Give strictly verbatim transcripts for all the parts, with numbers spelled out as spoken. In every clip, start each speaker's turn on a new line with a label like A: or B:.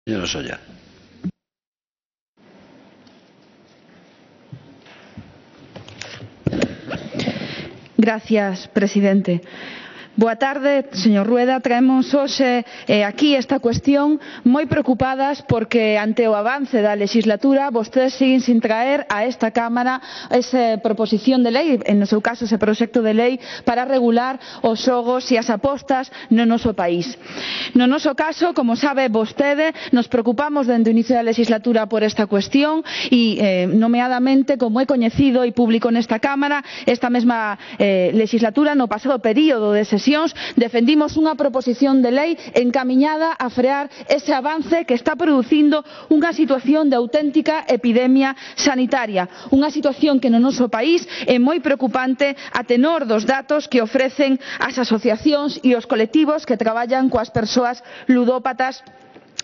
A: Señora Solla.
B: Gracias, presidente. Boa tarde, señor Rueda. Traemos hoxe eh, aquí esta cuestión moi preocupadas porque ante o avance da legislatura vostedes siguen sin traer a esta Cámara esa proposición de lei, en no seu caso ese proxecto de lei para regular os xogos e as apostas no noso país. No noso caso, como sabe vostede, nos preocupamos dende o inicio da legislatura por esta cuestión e, eh, nomeadamente, como é coñecido e público nesta Cámara, esta mesma eh, legislatura, no pasado período de sesión, defendimos unha proposición de lei encamiñada a frear ese avance que está producindo unha situación de auténtica epidemia sanitaria, unha situación que no noso país é moi preocupante a tenor dos datos que ofrecen as asociacións e os colectivos que traballan coas persoas ludópatas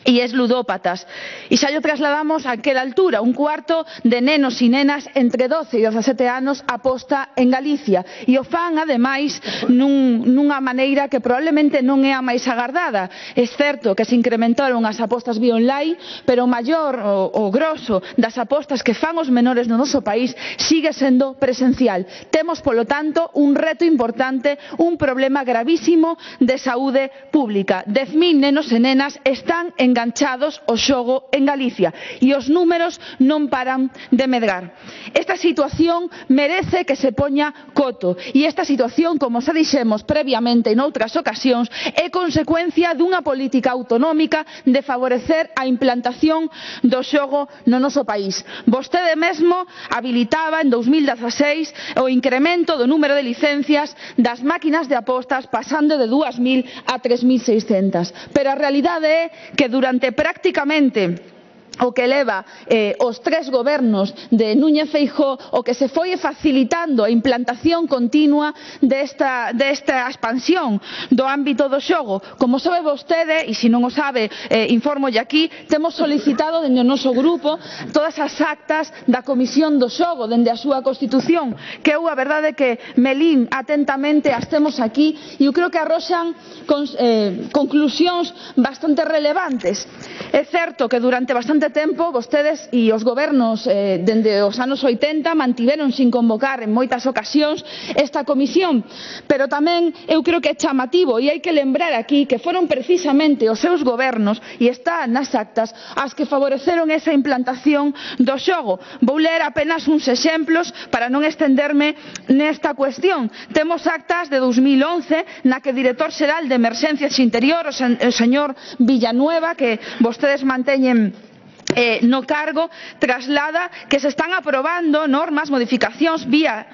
B: e es ludópatas. E xa llo trasladamos a aquela altura, un cuarto de nenos e nenas entre doce e dezasete anos aposta en Galicia, e o fan ademais nun, nunha maneira que probablemente non é a máis agardada. É certo que se incrementaron as apostas vía online, pero o maior, o, o grosso das apostas que fan os menores no noso país sigue sendo presencial. Temos, polo tanto, un reto importante, un problema gravísimo de saúde pública. dez mil nenos e nenas están en enganchados ao xogo en Galicia e os números non paran de medrar. Esta situación merece que se poña coto e esta situación, como xa dixemos previamente en outras ocasións, é consecuencia dunha política autonómica de favorecer a implantación do xogo no noso país. Vostede mesmo habilitaba en dous mil dezaseis o incremento do número de licencias das máquinas de apostas pasando de dúas mil a tres mil seiscentas, pero a realidade é que durante Durante prácticamente o que leva eh, os tres gobernos de Núñez Feijóo, o que se foi facilitando a implantación continua desta, desta expansión do ámbito do xogo. Como sabe vostede, e se non o sabe, eh, informolle aquí, temos solicitado dende o noso grupo todas as actas da Comisión do Xogo dende a súa constitución, que eu a verdade que me lín atentamente, as temos aquí, e eu creo que arroxan con, eh, conclusións bastante relevantes. É certo que durante bastante tempo vostedes e os gobernos eh, dende os anos oitenta mantiveron sin convocar en moitas ocasións esta comisión, pero tamén eu creo que é chamativo e hai que lembrar aquí que foron precisamente os seus gobernos, e está nas actas, as que favoreceron esa implantación do xogo. Vou ler apenas uns exemplos para non estenderme nesta cuestión. Temos actas de dous mil once na que o director xeral de Emerxencias Interior, o señor Villanueva, que vostedes manteñen Eh, no cargo, traslada que se están aprobando normas, modificacións vía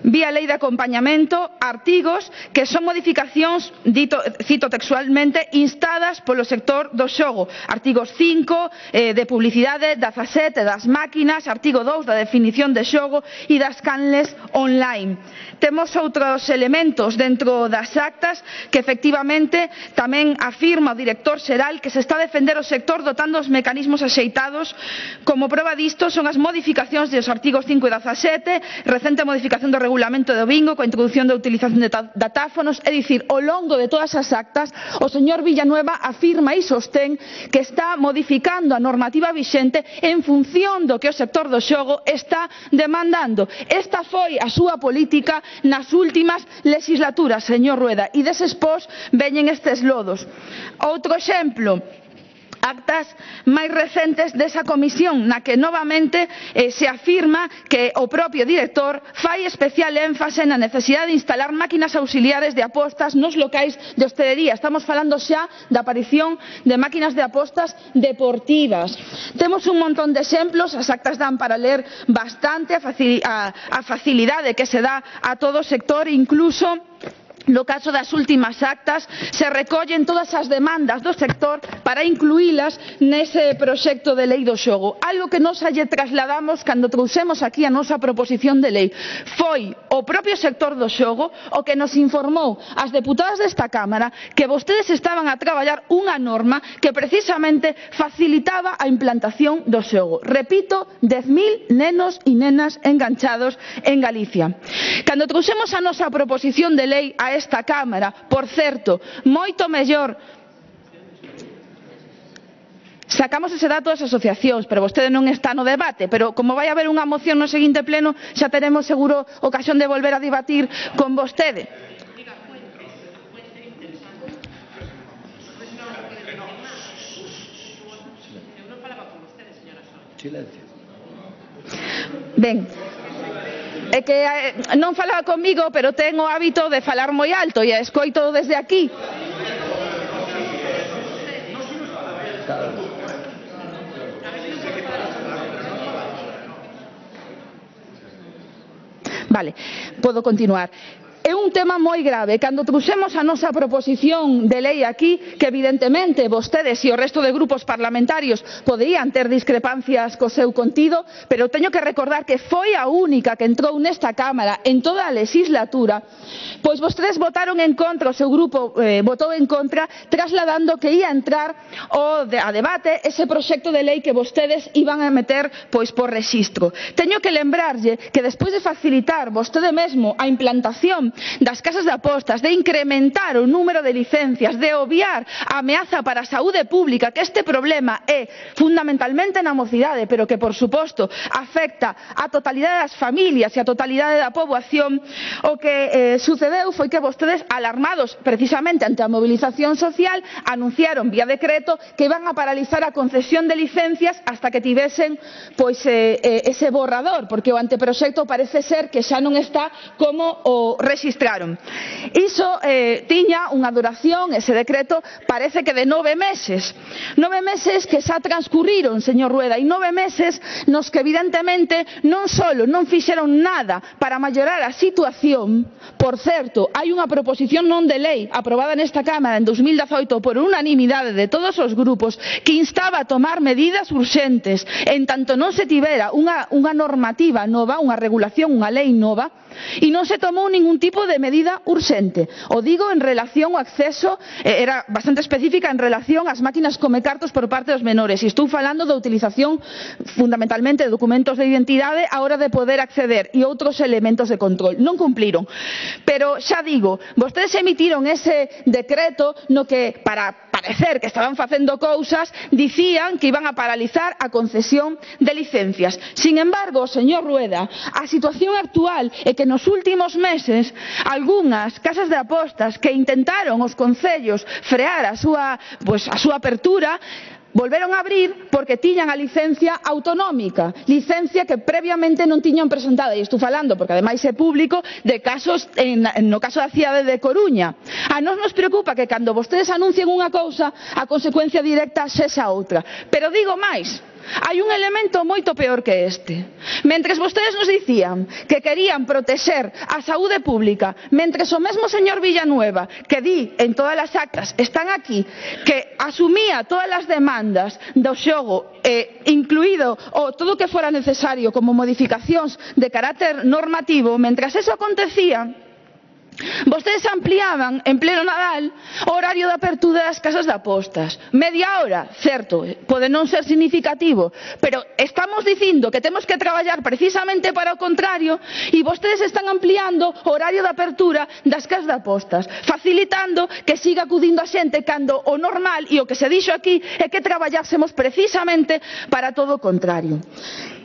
B: vía lei de acompañamento, artigos que son modificacións, dito, cito textualmente, instadas polo sector do xogo. Artigos cinco, eh, de publicidade, dezasete das máquinas, artigo dous da definición de xogo e das canles online. Temos outros elementos dentro das actas que efectivamente tamén afirma o director xeral que se está a defender o sector dotando os mecanismos axeitados. Como proba disto son as modificacións dos artigos cinco e dezasete, recente modificación do regulamento do bingo coa introdución da utilización de datáfonos. É dicir, ao longo de todas as actas o señor Villanueva afirma e sostén que está modificando a normativa vixente en función do que o sector do xogo está demandando. Esta foi a súa política nas últimas legislaturas, señor Rueda, e deses pós veñen estes lodos. Outro exemplo, actas máis recentes desa comisión na que novamente eh, se afirma que o propio director fai especial énfase na necesidade de instalar máquinas auxiliares de apostas nos locais de hostelería. Estamos falando xa da aparición de máquinas de apostas deportivas. Temos un montón de exemplos, as actas dan para ler bastante a, facil a, a facilidade que se dá a todo o sector, incluso no caso das últimas actas se recollen todas as demandas do sector para incluílas nese proxecto de lei do xogo. Algo que nos lle trasladamos cando trouxemos aquí a nosa proposición de lei. Foi o propio sector do xogo o que nos informou as deputadas desta Cámara que vostedes estaban a traballar unha norma que precisamente facilitaba a implantación do xogo. Repito, dez mil nenos e nenas enganchados en Galicia. Cando trouxemos a nosa proposición de lei a esta Cámara, por certo, moito mellor Sacamos ese dato das asociacións, pero vostede non está no debate, pero como vai haber unha moción no seguinte pleno, xa teremos seguro ocasión de volver a debatir con vostede. Ben, é que eh, non falaba comigo, pero ten o hábito de falar moi alto e escoito desde aquí. Vale, podo continuar. É un tema moi grave. Cando trouxemos a nosa proposición de lei aquí, que evidentemente vostedes e o resto de grupos parlamentarios poderían ter discrepancias co seu contido, pero teño que recordar que foi a única que entrou nesta Cámara en toda a legislatura, pois vostedes votaron en contra, o seu grupo eh, votou en contra, trasladando que ia entrar o de, a debate ese proxecto de lei que vostedes iban a meter pois por rexistro. Teño que lembrarlle que despois de facilitar vostede mesmo a implantación das casas de apostas, de incrementar o número de licencias, de obviar a ameaza para a saúde pública, que este problema é fundamentalmente na mocidade, pero que, por suposto, afecta a totalidade das familias e a totalidade da poboación, o que eh, sucedeu foi que vostedes, alarmados precisamente ante a movilización social, anunciaron vía decreto que iban a paralizar a concesión de licencias hasta que tivesen pois, eh, eh, ese borrador, porque o anteproxecto parece ser que xa non está como o rexistraron. Iso eh, tiña unha duración, ese decreto, parece que de nove meses. Nove meses que xa transcurriron, señor Rueda, e nove meses nos que evidentemente non só non fixeron nada para mellorar a situación. Por certo, hai unha proposición non de lei aprobada nesta Cámara en dos mil dezaoito por unanimidade de todos os grupos que instaba a tomar medidas urxentes en tanto non se tivera unha, unha normativa nova, unha regulación, unha lei nova, e non se tomou ningún tipo de medida urxente. O digo en relación ao acceso, eh, era bastante específica en relación ás máquinas comecartos por parte dos menores, e estou falando da utilización fundamentalmente de documentos de identidade á hora de poder acceder e outros elementos de control. Non cumpliron. Pero xa digo, vostedes emitiron ese decreto no que, para parecer que estaban facendo cousas, dicían que iban a paralizar a concesión de licencias. Sin embargo, señor Rueda, a situación actual é que nos últimos meses algunhas casas de apostas que intentaron os concellos frear a súa, pues, a súa apertura volveron a abrir porque tiñan a licencia autonómica, licencia que previamente non tiñan presentada, e estou falando, porque ademais é público, de casos, en, no caso da cidade de Coruña. A nós nos preocupa que cando vostedes anuncien unha cousa, a consecuencia directa sexa outra. Pero digo máis, hai un elemento moito peor que este. Mentres vostedes nos dicían que querían protexer a saúde pública, mentres o mesmo señor Villanueva, que di en todas as actas, están aquí, que asumía todas as demandas do xogo, eh, incluído o todo o que fora necesario como modificacións de carácter normativo, mentras eso acontecía, vostedes ampliaban en pleno Nadal o horario de apertura das casas de apostas. Media hora, certo, pode non ser significativo, pero estamos dicindo que temos que traballar precisamente para o contrario e vostedes están ampliando o horario de apertura das casas de apostas, facilitando que siga acudindo a xente cando o normal e o que se dixo aquí é que traballásemos precisamente para todo o contrario.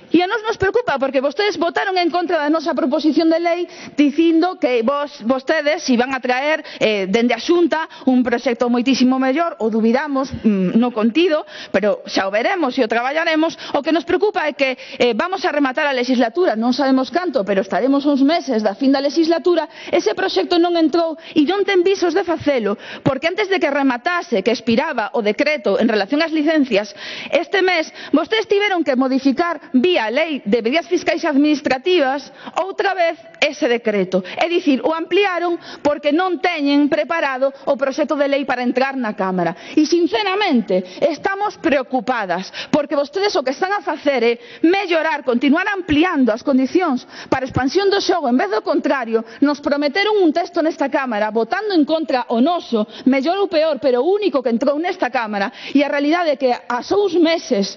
B: E a nos nos preocupa porque vostedes votaron en contra da nosa proposición de lei dicindo que vos, vostedes iban a traer eh, dende a Xunta un proxecto moitísimo mellor, o dubidamos mmm, no contido, pero xa o veremos e o traballaremos. O que nos preocupa é que eh, vamos a rematar a legislatura, non sabemos canto, pero estaremos uns meses da fin da legislatura, ese proxecto non entrou e non ten visos de facelo, porque antes de que rematase, que expiraba o decreto en relación ás licencias, este mes vostedes tiveron que modificar vía a lei de medidas fiscais e administrativas outra vez ese decreto, é dicir, o ampliaron porque non teñen preparado o proxecto de lei para entrar na Cámara. E sinceramente estamos preocupadas porque vostedes o que están a facer é mellorar, continuar ampliando as condicións para a expansión do xogo en vez do contrario. Nos prometeron un texto nesta Cámara votando en contra o noso, mellor ou peor, pero o único que entrou nesta Cámara, e a realidade é que a só uns meses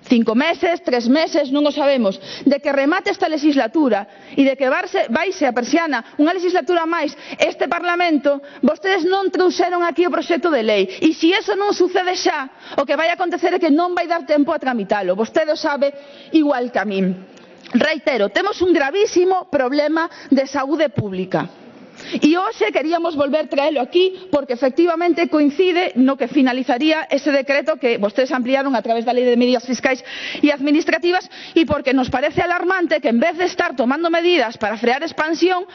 B: Cinco meses, tres meses, non o sabemos. De que remate esta legislatura e de que vaise a persiana unha legislatura máis este Parlamento, vostedes non trouxeron aquí o proxecto de lei. E se iso non sucede xa, o que vai acontecer é que non vai dar tempo a tramitalo. Vostede o sabe igual que a min. Reitero, temos un gravísimo problema de saúde pública. E hoxe queríamos volver traelo aquí porque efectivamente coincide no que finalizaría ese decreto que vostedes ampliaron a través da Lei de Medidas Fiscais e Administrativas e porque nos parece alarmante que en vez de estar tomando medidas para frear expansión,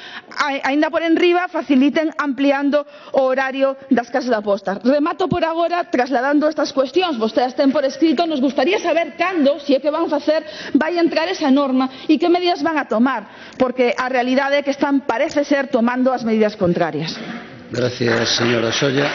B: aínda por enriba faciliten ampliando o horario das casas de apostas. Remato por agora trasladando estas cuestións. Vostedes ten por escrito, nos gustaría saber cando, se é que van facer, vai entrar esa norma e que medidas van a tomar, porque a realidade é que están, parece ser, tomando as medidas contrarias.
A: Gracias, señora Solla.